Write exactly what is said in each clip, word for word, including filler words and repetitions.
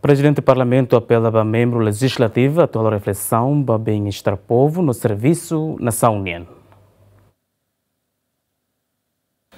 Prezidente Parlamentu apela ba membru lejizlativu atu halo reflesaun ba bem-estar povu no servisu nasaun nian.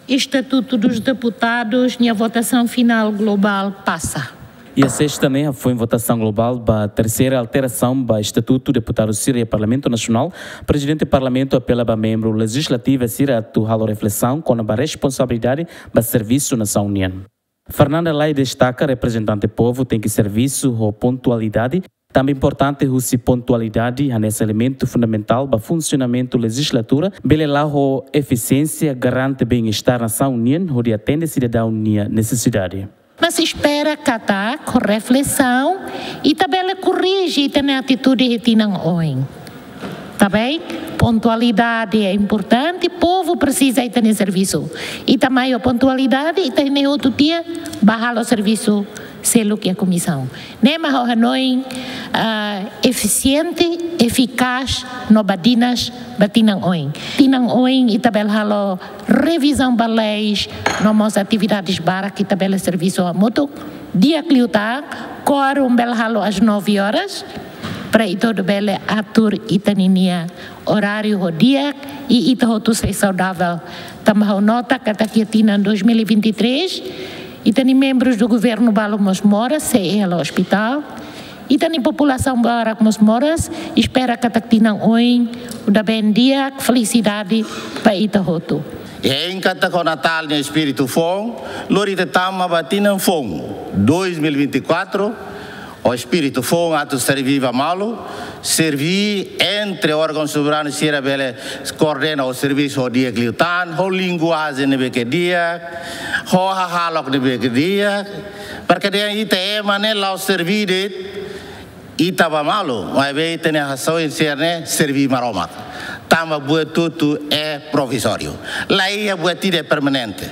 Estatuto dos Deputados, nia votasaun finál globál pasa. Iha sesta ne'e, foin votasaun globál ba terseira alterasaun ba Estatutu Deputadu sira iha Parlamentu Nasionál, Prezidente Parlamentu apela ba membru lejizlativu sira atu halo reflesaun kona-ba responsabilidade ba servisu nasaun nian. Fernanda Lay destaka reprezentante povu tenke servisu ho pontualidade, tanba importante husi pontualidade hanesan elementu fundamentál ba funsionamentu lejizlatura, bele la'o ho efisiénsia garante bem-estar nasaun nian hodi atende sidadaun nia nesesidade. Mas espera katak ho reflesaun ita bele korrije ita-nia atitude iha tinan oin. Tá bem? Pontualidade é importante, povu presiza ita-nia servisu. Ita mai ho pontualidade, ita-nia hotu tiha bá halo servisu seluk iha komisaun. Ne'e mak ha'u hanoin, ah, efisiente, efikás no badinas ba tinan oin. Tinan oin ita bele halo revizaun ba leis no mós atividades barak ita bele servisu hamutuk. Di'ak liután, quórum bele halo às nove horas, para ita hotu bele atur ita-ninia oráriu ho di'ak i ita hotu sai saudável. Tanba ha'u nota katak iha tinan dois mil e vinte e três, ita-nia membrus do governu balu mós moras, sei iha la ospitál. Ita-nia populasaun barak mós moras, espera katak tinan oin, uda ben di'ak, felisidade ba ita hotu. Hein katak ho Natál nia espíritu foun, lori ita tama ba tinan foun, dois mil e vinte e quatro, ho espíritu foun atu serví ba malu, serví entre órgaun soberanu sira bele koordena ho servisu ho di'ak liután, ho linguajen ne'ebé ke di'ak, ho hahalok ne'ebé ke di'ak, para ke dehan ita ema ne'e la'o serví de'it ita ba malu, maibé ita-nia hasoin sira-ne'e serví Maromak. Tanba buat hotu-hotu é provizóriu. La iha buat ida é permanente.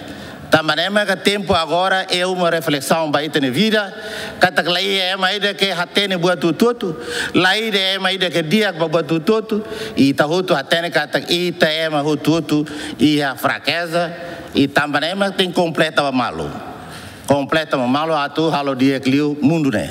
Tanba ne'e maka tempu agora é uma reflesaun ba ita-nia vida, katak la iha ema ida ke hatene buat hotu-hotu, la iha ema ida ke di'ak ba buat hotu-hotu, i ita hotu hatene katak ita ema hotu-hotu iha frakeza, i tanba ne'e maka tenke kompleta ba malu. Kompleta ba malu atu halo di'ak liu mundu ne'e.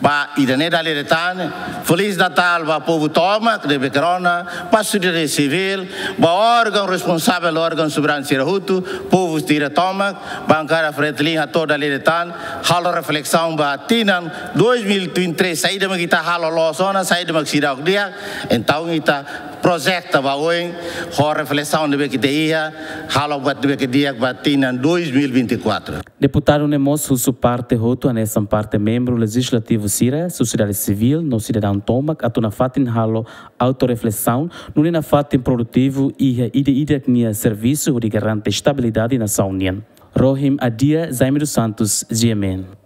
Ba ida-ne'e dala ida tan, Feliz Natal ba povu tomak ne'ebé ke rona, ba sosiedade sivíl, ba órgaun responsavel, órgaun soberanu sira hotu, povu sira tomak, bankada Fretilin hato'o dala ida tan, halo reflesaun ba tinan dois mil e vinte e três, saida mak ita halo loos ona, saida mak seidauk di'ak, entaun ita projeta ba oin, ho reflesaun ne'ebé ke ita iha, halo buat ne'ebé ke di'ak ba tinan dois mil e vinte e quatro. Deputadu ne'e mós husu parte hotu hanesan parte membru lejizlativu sira, sosiedade sivíl no sidadaun tomak atu nafatin halo autoreflesaun, nune'e nafatin produtivu iha ida-idak nia servisu hodi garante estabilidade nasaun nian. Rohim Adia, Jaime dos Santos, G M N.